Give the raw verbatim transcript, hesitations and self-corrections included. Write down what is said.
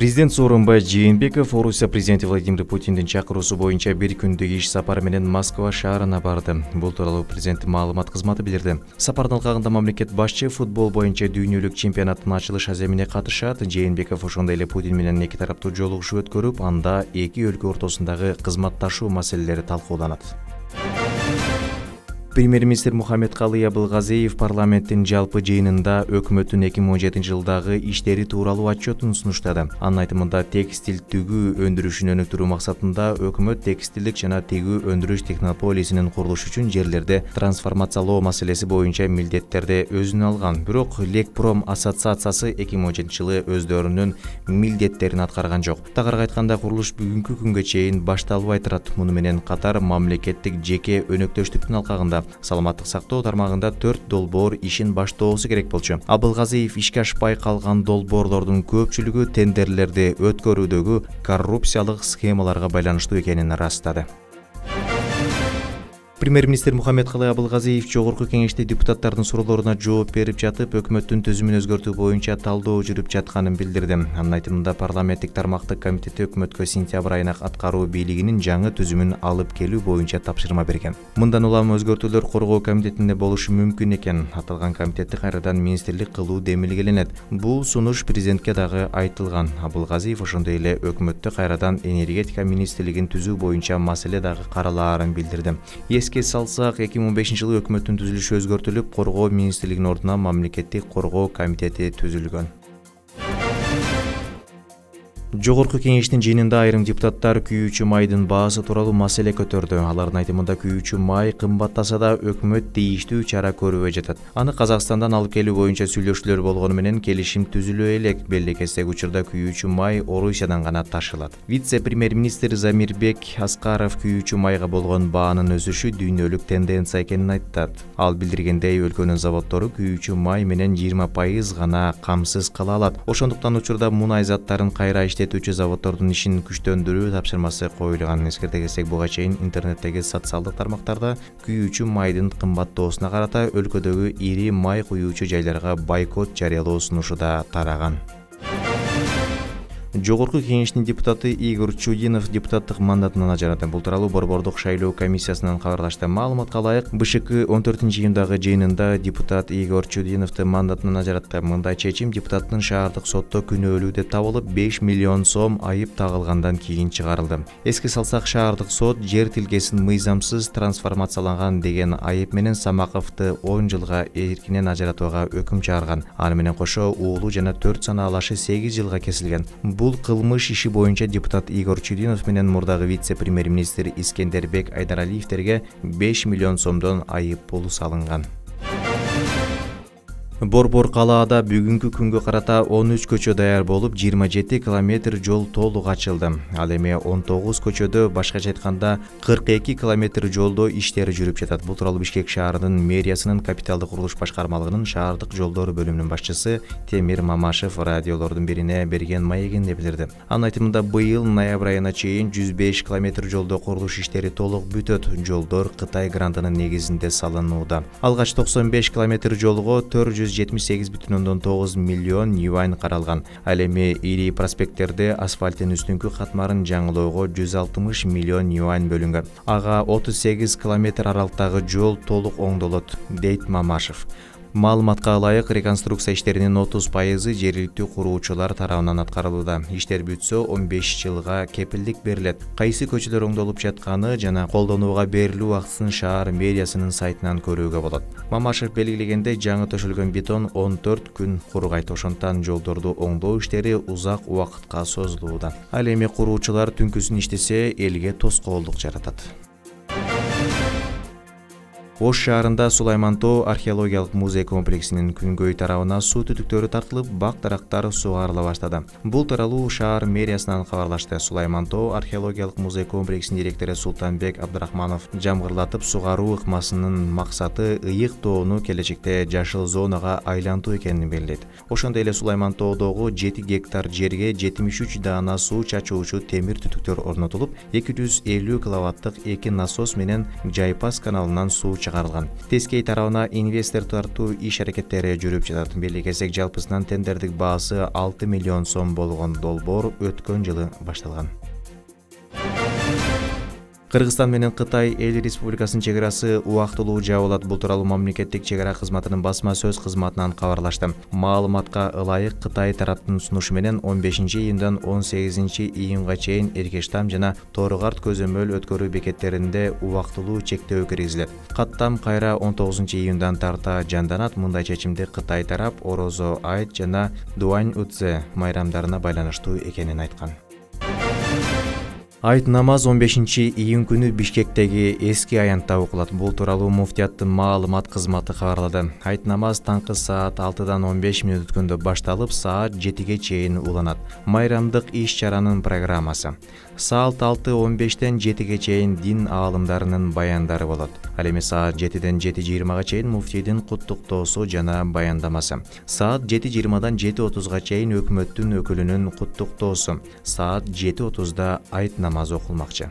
Президент Сооронбай Жээнбеков Орусия президенти Владимир Путиндин чакыруусу боюнча бир күндүк иш сапары менен Москва шаарына барды. Бул тууралуу президенттин маалымат кызматы билдирди. Сапардын алкагында мамлекет башчы футбол боюнча дүйнөлүк чемпионаттын ачылыш аземине катышат. Жээнбеков ошондой эле Путин менен эки тараптуу жолугушуу өткөрүп, анда эки өлкө ортосундагы кызматташуу маселелери талкууланат. Премьер-министр Мухаммедкалый Абылгазиев парламенттин жалпы жыйынында өкмөттүн эки миң он жетинчи жылдагы иштери тууралуу отчетун сунуштады. Анын айтымында текстиль тигүү өндүрүшүн өнүктүрүү максатында өкмөт текстилдик жана тигүү өндүрүш технополисинин курулушу үчүн жерлерди трансформациялоо маселеси боюнча милдеттерди өзүнө алган. Бирок Лекпром ассоциациясы эки миң он жетинчи жылы өздөрүнүн милдеттерин аткарган жок. Тагыраак айтканда, курулуш бүгүнкү күнгө чейин башталбай турат. Муну менен катар мамлекеттик жеке өнөктөштүктүн алкагында саламаттык сактоо тармагында төрт долбоор ишин баштоосу керек болчу. Абылгазиев ишке ашпай калган долбоорлордун көпчүлүгү тендерлерди өткөрүүдөгү коррупциялык схемаларга байланыштуу экенин ырастады. Премьер-министр Мухаммедкалый Абылгазиев жогорку кеңеште депутаттардын суроолоруна жооп берип жатып, өкмөттүн түзүмүн өзгөртүү боюнча талдоо жүрүп жатканын билдирди. Анын айтымында, парламенттик тармактык комитети өкмөткө сентябрь айына аткаруу бийлигинин жаңы түзүмүн алып келүү боюнча тапшырма берген. Мындан улам өзгөртүүлөр коргоо комитетинде болушу мүмкүн экен. Аталган комитетти кайрадан министрлик кылуу демилгеленет. Бул сунуш президентке дагы айтылган. Абылгазиев ошондой эле өкмөттө кайрадан энергетика министрлигин түзүү боюнча маселе дагы каралаарын билдирди. Эске салсак, эки миң он бешинчи жылы өкмөттүн түзүлүшү өзгөртүлүп, коргоо министрлигинин ордуна мамлекеттик коргоо комитети түзүлгөн. Жогорку кеңештин жыйынында айрым депутаттар күйүүчү майдын баасы тууралуу маселе көтөрдү. Алардын айтымында, күйүүчү май кымбаттаса да өкмөт тийиштүү чара көрбөй жатат. Аны Казакстандан алып келүү боюнча сүйлөшүүлөр болгону менен келишим түзүлө элек. Белекестеги учурда күйүүчү май Орусиядан гана ташылат. Вице-премьер-министр Замирбек Аскаров күйүүчү майга болгон баанын өсүшү дүйнөлүк тенденция экенин айтат. Ал билдиргендей, өлкөнүн заводдору күйүүчү май менен жыйырма пайыз гана камсыз кыла алат. Ошондуктан учурда мунай заттарын кайра иштетүүчү заводдордун ишин күчтөндүрүү тапшырмасы коюлган. Эскерте кетсек, буга чейин интернеттеги социалдык тармактарда күйүүчү майдын кымбаттоосуна карата өлкөдөгү ири май куюучу жайларга бойкот жарыялоо сунушу да тараган. Жогорку кеңештин депутаты Игорь Чудинов депутаттык мандатынан ажырады. Бул тууралуу Борбордук шайлоо комиссиясынан кабарлашты. Маалыматка ылайык, БШК он төртүнчү июндагы жыйынында депутат Игорь Чудиновду мандатынан ажыратты. Мындай чечим депутаттын шаардык сотто күнөөлүү деп табылып, беш миллион сом айып тагылгандан кийин чыгарылды. Эске салсак, шаардык сот жер тилкесин мыйзамсыз трансформацияланган деген айып менен Самаковду он жылга эркинен ажыратууга өкүм чыгарган. Аны менен кошо уулу жана төрт санаалашы сегиз жылга кесилген. Бул кылмыш иши боюнча депутат Игорь Чудинов менен мурдагы вице-премьер-министр Искендербек Айдаралиевтерге беш миллион сомдон айып пул салынган. Борбор калаада бүгүнкү күнгө карата он үч көчө даяр болуп, жыйырма жети километр жол толук ачылды. Ал эми он тогуз көчөдө, башкача айтканда кырк эки километр жолдо иштери жүрүп жатат. Бул тууралуу Бишкек шаарынын мэриясынын капиталдык курулуш башкармалыгынын шаардык жолдор бөлүмүнүн башчысы Темир Мамашев радиолордун бирине берген маегинде билдирди. Анын айтымында, быйыл ноябрь айына чейин жүз беш километр жолдо курулуш иштери толук бүтөт. Жолдор Кытай грантынын негизинде салынууда. Алгач токсон беш километр жолго төрт жүз жетимиш сегиз бүтүн ондон тогуз миллион юань каралган. Ал эми ири проспекттерде асфальттын үстүнкү катмарын жаңылоого жүз алтымыш миллион юань бөлүнгөн. Ага отуз сегиз километр аралыктагы жол толук оңдолот, дейт Мамашев. Маалыматка ылайык, реконструкция иштеринин отуз пайызы жергиликтүү куруучулар тарабынан аткарылууда. Иштер бүтсө он беш жылга кепилдик берилет. Кайсы көчөлөр оңдолуп жатканы жана колдонууга берилүү актысын шаар мэриясынын сайтынан көрүүгө болот. Мамашев белгилегендей, жаңы төшөлгөн бетон он төрт күн кургайт. Ошондуктан жолдорду оңдоо иштери узак убакытка созулууда. Ал эми куруучулар түнкүсүн иштесе, элге тоскоолдук жаратат. Ош шаарында Сулайман тоо археологиялык музей комплексинин күнгөй тарабына суу түтүктөрү тартылып, бак дарактар сугарыла баштады. Бул тууралуу шаар мэриясынан кабарлашты. Сулайман тоо археологиялык музей комплексинин директору Султанбек Абдрахманов жамгырлатып сугаруу ыкмасынын максаты ыйык тоону келечекте жашыл зонага айлантуу экенин белгилейт. Ошондой эле Сулайман тоодогу жети гектар жерге жетимиш үч даана суу чачуучу темир түтүктөр орнотулуп, эки жүз элүү киловаттык эки насос менен Жайпас каналынан суу чыгарылган. Тескей тарабына инвестор тартуу иш аракеттери жүрүп жатат. Белек эсек жалпысынан тендердик баасы алты миллион сом болгон долбоор өткөн жылы башталган. Кыргызстан менен Кытай Эл Республикасынын чек арасы убактылуу жабылат. Бул тууралуу мамлекеттик чек ара кызматынын басма сөз кызматынан кабарлашты. Маалыматка ылайык Кытай тараптын сунушу менен он бешинчи июндан он сегизинчи июнга чейин Эркештам жана Тору-Карт көзөмөл өткөрүү бекеттеринде убактылуу чектөө киргизилет. Каттам кайра он тогузунчу июндан тарта жанданат. Мындай чечимди Кытай тарап Орозо айт жана Дуань Удзе майрамдарына байланыштуу экенин айткан. Айт намаз он бешинчи июнь күнү Бишкектеги эски аянтта окулат. Бул тууралуу муфтияттын маалымат кызматы кабарлады. Айт намаз таңкы саат алтыдан он беш мүнөт өткөндө башталып, саат жетиге чейин уланат. Майрамдык иш-чаранын программасы. Саат алты он бештен жетиге чейин дин аалымдарынын баяндары болот. Ал эми саат жетиден жети жыйырмага чейин муфтийдин куттуктоосу жана баяндамасы. Саат жети жыйырмадан жети отузга чейин өкмөттүн өкүлүнүн куттуктоосу. Саат жети отузда айт намазы окулмакчы.